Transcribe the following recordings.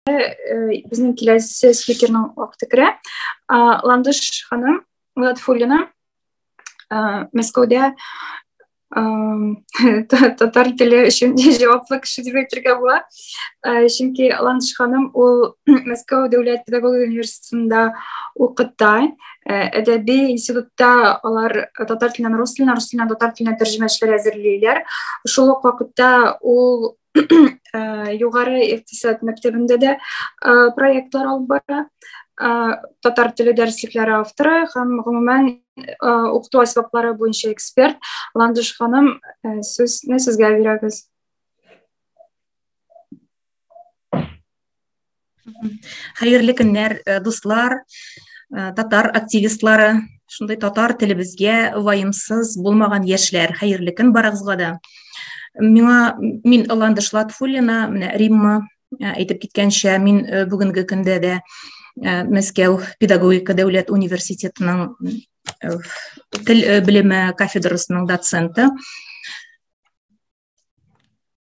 Безнең киләсе спикерның вакыты керә. Ландыш ханым Латфуллина Мәскәүдә татар теле өчен җаваплы кеше дип әйтергә була. Чөнки Ландыш ханым ул Мәскәү дәүләт педагогия университетында укыта. Әдәби институтта алар татар теленнән рус теленә, рус теленнән татар теленә тәрҗемәчеләр әзерлиләр. Шул ук вакытта ул югары икътисад мәктәбендә дә проектлар алып бара. Татар теле дәреслекләре авторы һәм гомумән укыту әсбаплары буенча эксперт. Ландыш ханым, сүзне сезгә бирәбез. Хәерле көннәр, дуслар, татар активистлары, шундый татар телебезгә ваемсыз булмаган яшьләр. Хәерле көн барыгызга да. Миңа мин Ландыш Латфуллина, менә Римма әйтеп киткәнчә, мин бүгенге көндә дә Мәскәү педагогика дәүләт университетының тел белеме кафедрасының доценты.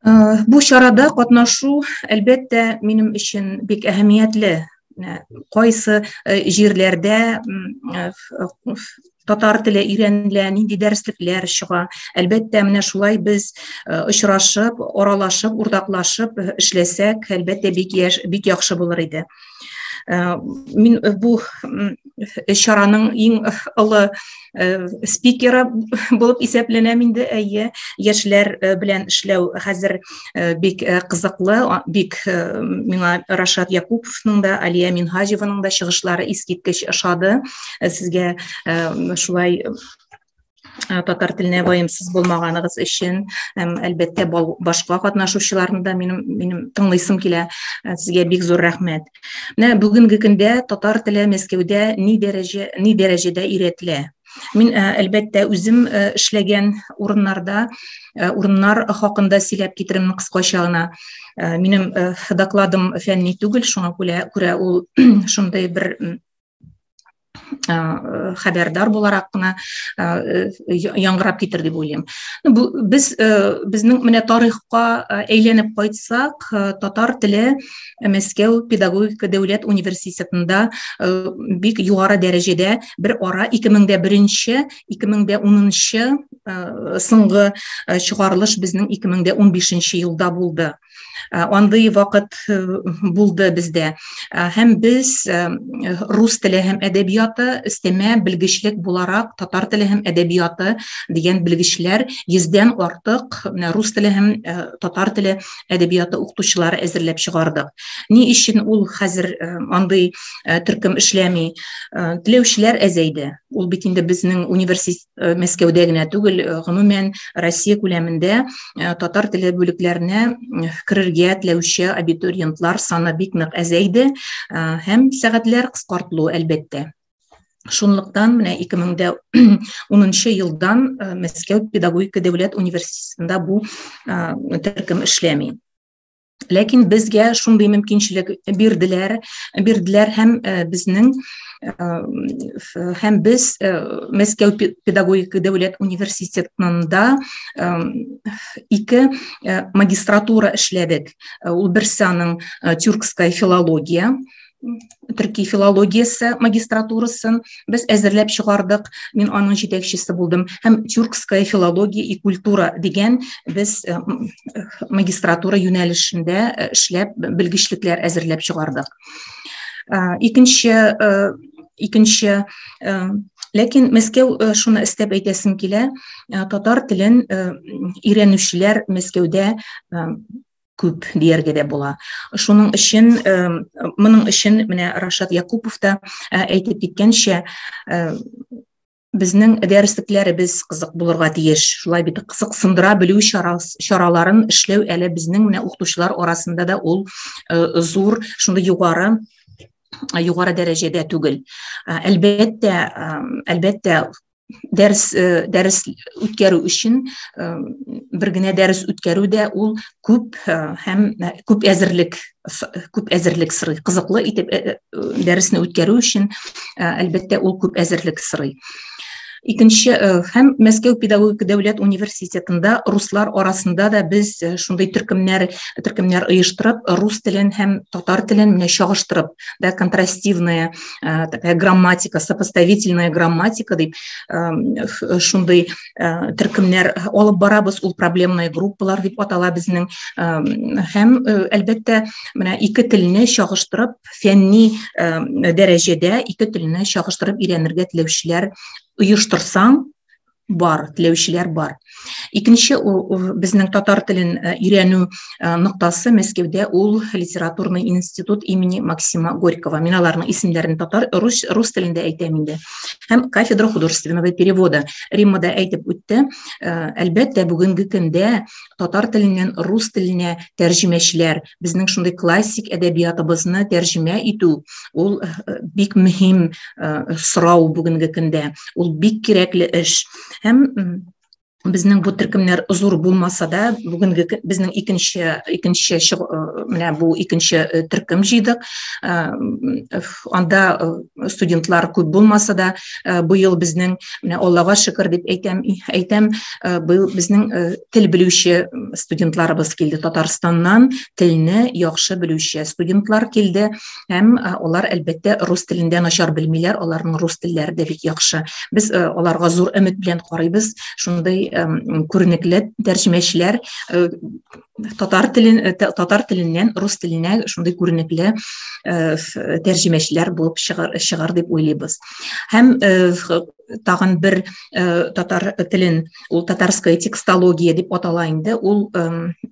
Бу чарада катнашу, әлбәттә, минем өчен бик әһәмиятле. Кайсы җирләрдә татар теле өйрәнелә, нинди дәреслекләр чыга. Әлбәттә, менә шулай без очрашып, аралашып, уртаклашып эшләсәк, әлбәттә, бик яш, бик яхшы булыр иде. Мин бу чараның иң олы спикеры булып исәпләнәм инде, әйе. Яшьләр белән эшләү хәзер бик кызыклы, бик миңа Рашат Якуповның да, Алия Минһаҗеваның да чыгышлары искиткеч ошады. Сезгә шулай татар теленә ваемсыз булмаганыгыз өчен һәм, әлбәттә, башка катнашучыларны да минем тыңлыйсым килә. Сезгә бик зур рәхмәт. Менә бүгенге көндә татар теле Мәскәүдә ни дәрәҗәдә өйрәтелә? Мин, әлбәттә, үзем эшләгән урыннарда, урыннар хакында сөйләп китерәм кыскача гына. Минем докладым фәнни түгел, шуңа күрә ул шундый бер хәбәрдар буларак кына яңгырап китер дип уйлыйм. Бу без безнең менә тарихка әйләнеп кайтсак, татар теле Мәскәү педагогика дәүләт университетында бик югары дәрәҗәдә бер ара 2001, 2010 соңгы чыгарылыш безнең 2015 елда булды. Андый вакыт булды бездә. Һәм без рус теле һәм әдәбияты өстәмә белгечлек буларак татар теле һәм әдәбияты дигән белгечләр 100дән артык менә рус теле һәм татар теле әдәбияты укытучылары әзерләп чыгардык. Ни өчен ул хәзер андый төркем эшләми? Теләүчеләр әзәйде. Ул бит инде безнең университет Мәскәүдә генә түгел, гомумән Россия күләмендә татар теле бүлекләренә керергә теләүче абитуриентлар саны бик нык әзәйде һәм сәгатьләр кыскартылу, әлбәттә. Шунлыктан менә 2010 елдан Мәскәү педагогика дәүләт университетында бу төркем эшләми. Ләкин безгә шундый мөмкинчелек бирделәр һәм безнең һәм без Мәскәү педагогика дәүләт университетында ике магистратура эшләдек. Ул берсе аның тюркская филология, төрки филологиясе магистратурасын без әзерләп чыгардык. Мин аның җитәкчесе булдым. Һәм тюркская филология и культура дигән без магистратура юнәлешендә эшләп белгечлекләр әзерләп чыгардык. Икенче, ләкин Мәскәү, шуны өстәп әйтәсем килә, татар телен өйрәнүчеләр Мәскәүдә күп дияргә дә була. Шуның өчен, моның өчен менә Рашат Якупов та әйтеп киткәнчә, безнең дәреслекләребез кызык булырга тиеш. Шулай бит, кызыксындыра белү чараларын эшләү әле безнең менә укытучылар арасында да ул зур, шундый югары дәрәҗәдә түгел. Әлбәттә, дәрес үткәрү өчен бер генә дәрес үткәрү дә ул күп һәм күп әзерлек сорый. Кызыклы итеп дәресне үткәрү өчен, әлбәттә, ул күп әзерлек сорый. Икенче һәм Мәскәү педагогика дәүләт университетында руслар арасында да без шундый төркемнәр төркемнәр оештырып, рус телен һәм татар телен менә чагыштырып, да, контрастивная такая грамматика, сопоставительная грамматика дип шундый төркемнәр алып барабыз. Ул проблемная группалар дип атала безнең. Һәм әлбәттә, менә ике телне чагыштырып, фәнни дәрәҗәдә ике телне чагыштырып өйрәнергә теләүчеләр оештырсаң, бар, теләүчеләр бар. Икенче безнең татар телен өйрәнү ноктасы Мәскәүдә ул литературный институт имени Максима Горького. Мин аларның исемнәрен татар рус рус телендә әйтәм инде. Һәм кафедра художественного перевода. Римма да әйтеп үтте. Әлбәттә, бүгенге көндә татар теленнән рус теленә тәрҗемәчеләр, безнең шундый классик әдәбиятыбызны тәрҗемә итү ул бик мөһим сорау бүгенге көндә. Ул бик кирәкле эш. Һәм безнең бу төркемнәр зур булмаса да, бүгенге безнең икенче икенче менә бу икенче төркем җыйдык. Анда студентлар күп булмаса да, быел безнең менә Аллага шөкер дип әйтәм, әйтәм, быел безнең тел белүче студентларыбыз килде Татарстаннан, телне яхшы белүче студентлар килде һәм алар әлбәттә рус телендә начар белмиләр, аларның рус телләре дә бик яхшы. Без аларга зур өмет белән карыйбыз. Шундый күренекле тәрҗемәчеләр татар телен татар теленнән рус теленә шундый күренекле тәрҗемәчеләр булып чыгар, чыгар дип уйлыйбыз. Һәм тагын бер татар телен, ул татарская текстология дип атала инде, ул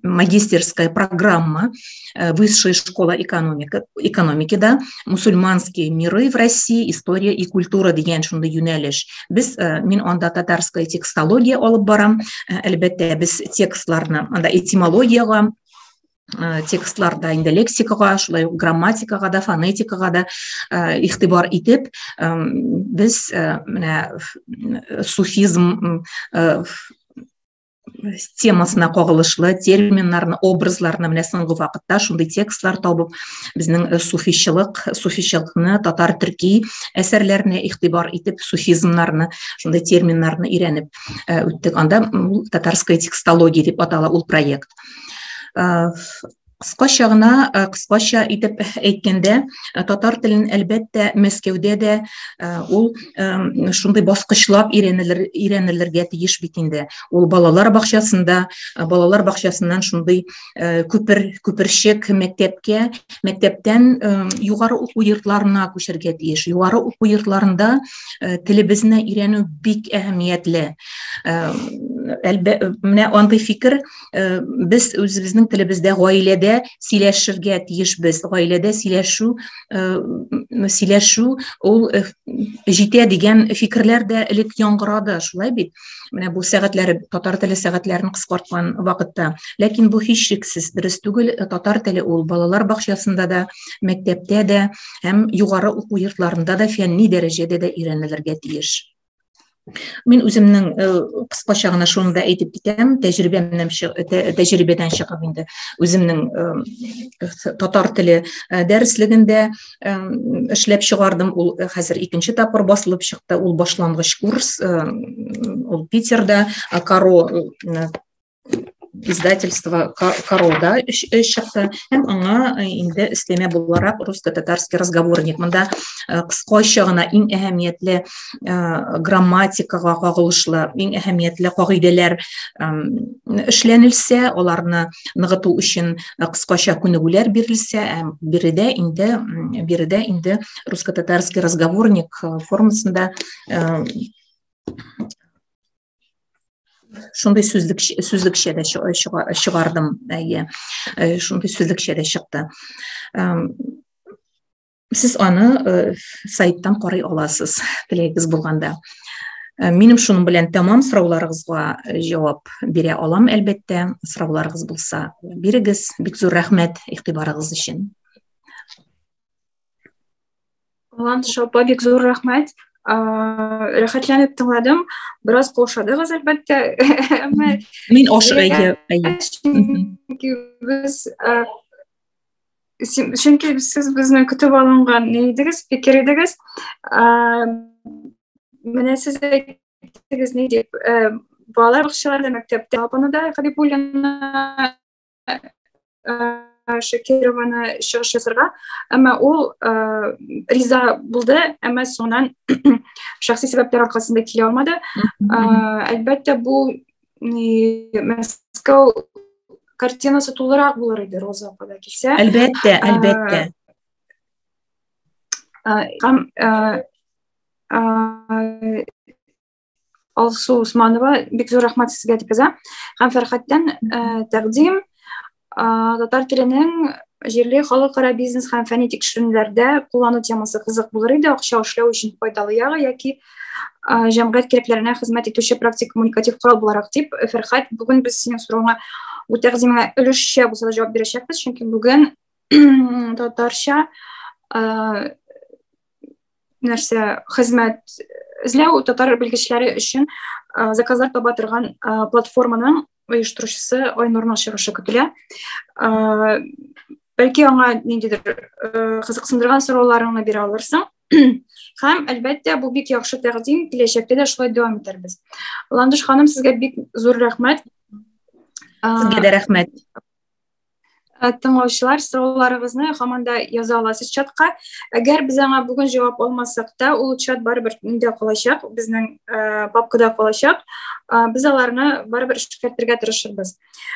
магистерская программа Высшая школа экономика, экономики да, мусульманские миры в России, история и культура дигән шундый юнәлеш. Без мин анда татарская текстология алып барам. Әлбәттә, без текстларны анда этимологиягә текстларда инде лексикага, шулай ук грамматикага да, фонетикага да игътибар итеп, без менә суфизм темасына кагылышлы терминнарны, образларны менә соңгы вакытта шундый текстлар табып, безнең суфичылык, суфичылыкны, татар төрки әсәрләренә игътибар итеп, суфизмнарны, шундый терминнарны өйрәнеп үттек. Анда татарская текстология дип атала ул проект. Кыскача гына, кыскача итеп әйткәндә, татар телен әлбәттә Мәскәүдә дә ул шундый баскычлап өйрәнелер, өйрәнелергә тиеш бит инде. Ул балалар бакчасында, балалар бакчасыннан шундый күпер, күперчек мәктәпкә, мәктәптән югары уку йортларына күчәргә тиеш. Югары уку йортларында телебезне өйрәнү бик әһәмиятле. Менә андый фикер без үзебезнең телебездә гаиләдә сөйләшергә тиешбез. Гаиләдә сөйләшү сөйләшү ул җитә дигән фикерләр дә элек яңгырады, шулай бит? Менә бу сәгатьләре, татар теле сәгатьләрен кыскарткан вакытта. Ләкин бу һичшиксез дөрес түгел. Татар теле ул балалар бакчасында да, мәктәптә дә һәм югары уку йортларында да фәнни дәрәҗәдә дә өйрәнелергә тиеш. Мин үземнең кыскача гына шуны да әйтеп китәм, тәҗрибәмнән тәҗрибәдән чыгып инде үземнең татар теле дәреслегендә эшләп чыгардым. Ул хәзер икенче тапкыр басылып чыкты. Ул башлангыч курс, ул Питерда Каро издательство Карода чыкты һәм аңа инде өстәмә буларак русско-татарский разговорник. Монда кыскача гына иң әһәмиятле грамматикага кагылышлы иң әһәмиятле кагыйдәләр эшләнелсә, аларны ныгыту өчен кыскача күнегүләр бирелсә, биредә инде биредә инде русско-татарский разговорник формасында шундый сүзлек сүзлекчә дә чыгардым, әйе, шундый сүзлекчә дә чыкты. Сез аны сайттан карый аласыз, теләгегез булганда. Минем шуның белән тәмам, сорауларыгызга җавап бирә алам, әлбәттә, сорауларыгыз булса, бирегез. Бик зур рәхмәт игътибарыгыз өчен. Ландыш апа, бик зур рәхмәт. Рәхәтләнеп тыңладым. Бераз каушадыгыз, әлбәттә. Әмма мин ашыга. Чөнки без чөнки сез безне көтеп алынган ни идегез, фикер идегез. Менә сез. итегез ни дип. Балалар бакчаларында, мәктәптә апаны да, Хабибуллина Шакированы чыгыш ясарга, әмма ул риза булды, әмма соңыннан шәхси сәбәпләр аркасында килә алмады. Әлбәттә, бу Мәскәү картинасы тулырак булыр иде, Роза апа да килсә. Әлбәттә, әлбәттә. Һәм Алсу Усманова, бик зур рәхмәт сезгә, дип яза. Һәм Фәрхәттән тәкъдим: татар теленең җирле, халыкара бизнес һәм фәнни тикшеренүләрдә куллану темасы кызык булыр иде, акча эшләү өчен файдалы ягы яки җәмгыять кирәкләренә хезмәт итүче практик коммуникатив корал буларак, дип. Фәрхәт, бүген без синең соравыңа, бу тәкъдимеңә өлешчә булса да җавап бирәчәкбез, чөнки бүген татарча нәрсә хезмәт эзләү, татар белгечләре өчен заказлар таба торган платформаның оештыручысы Айнурның чыгышы көтелә. Бәлки, аңа ниндидер кызыксындырган сорауларыңны бирә алырсың. Һәм, әлбәттә, бу бик яхшы тәкъдим, киләчәктә дә шулай дәвам итәрбез. Ландыш ханым, сезгә бик зур рәхмәт. Сезгә дә рәхмәт. Тыңлаучылар, сорауларыгызны һаман да яза аласыз чатка. Әгәр без аңа бүген җавап алмасак та, ул чат барыбер миндә калачак, безнең папкада калачак. Без аларны барыбер эшкәртергә тырышырбыз.